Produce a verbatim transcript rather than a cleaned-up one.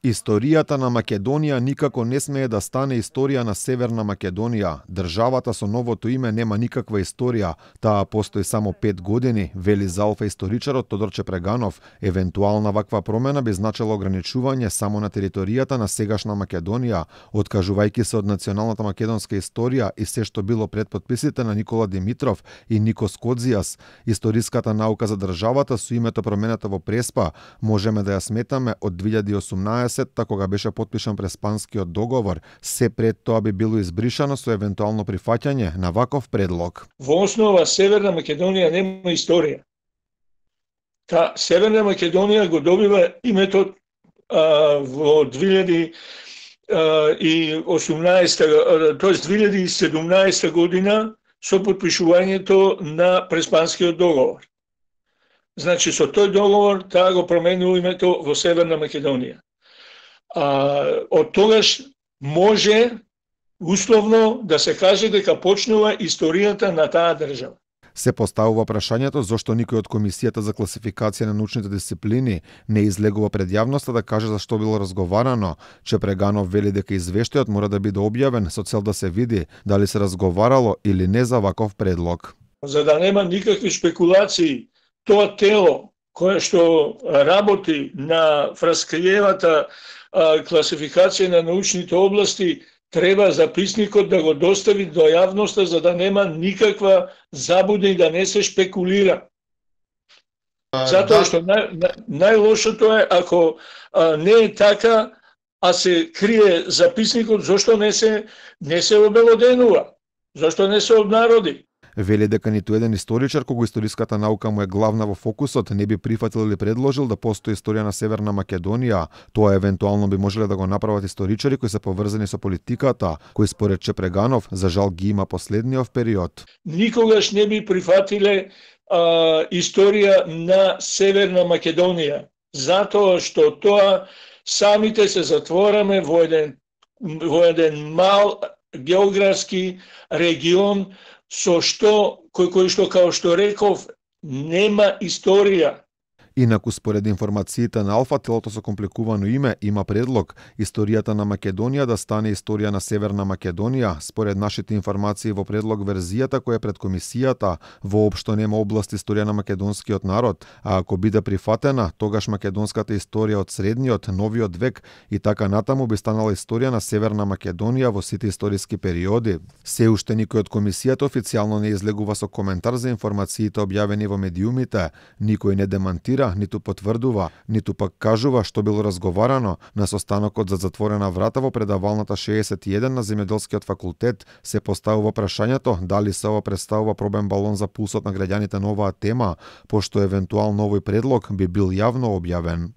Историјата на Македонија никако не смее да стане историја на Северна Македонија. Државата со новото име нема никаква историја, таа постои само пет години, вели за Алфа историчарот Тодор Чепреганов. Евентуална ваква промена би значила ограничување само на територијата на сегашна Македонија, откажувајќи се од националната македонска историја и се што било пред подписите на Никола Димитров и Никос Кодзијас. Историската наука за државата со името променета во Преспа можеме да ја сметаме од две илјади и осумнаесетта кога беше потпишан Преспанскиот договор, се пред тоа би било избришано со евентуално прифаќање на ваков предлог. Во основа Северна Македонија нема историја. Та Северна Македонија го добива името а, во две илјади и осумнаесетта, тоест две илјади и седумнаесетта година со потпишувањето на Преспанскиот договор. Значи со тој договор таа го променила името во Северна Македонија. А, од тогаш може условно да се каже дека почнува историјата на таа држава. Се поставува прашањето зошто никој од Комисијата за класификација на научните дисциплини не излегува пред јавноста да каже за што било разговарано. Чепреганов вели дека извештајот мора да биде објавен со цел да се види дали се разговарало или не за ваков предлог. За да нема никакви спекулации, тоа тело кое што работи на фраскриевата класификација на научните области треба записникот да го достави до јавноста за да нема никаква забуда и да не се шпекулира. Затоа што нај, нај, најлошото е ако а, не е така, а се крие записникот, зошто не се не се обелоденува, зошто не се обнароди. Вели дека ниту еден историчар кога историската наука му е главна во фокусот не би прифатил или предложил да постои историја на Северна Македонија. Тоа евентуално би можеле да го направат историчари кои се поврзани со политиката, кои според Чепреганов за жал ги има последниот период. Никогаш не би прифатиле а, историја на Северна Македонија, затоа што тоа самите се затвораме во еден во еден мал географски регион со што, кој, кој што, као што реков, нема историја. Инаку, според информациите на Алфа, телото со компликувано име има предлог историјата на Македонија да стане историја на Северна Македонија. Според нашите информации во предлог верзијата која е пред комисијата воопшто нема област историја на македонскиот народ, а ако биде прифатена, тогаш македонската историја од средниот, новиот век и така натаму би станала историја на Северна Македонија во сите историски периоди. Се уште никој од комисијата официјално не излегува со коментар за информациите објавени во медиумите, никој не демантира, ниту потврдува, ниту пак кажува што било разговарано на состанокот за затворена врата во предавалната шеесет и еден на Земјоделскиот факултет. Се поставува прашањето дали се ова представува пробен балон за пулсот на граѓаните на оваа тема, пошто евентуално овој предлог би бил јавно објавен.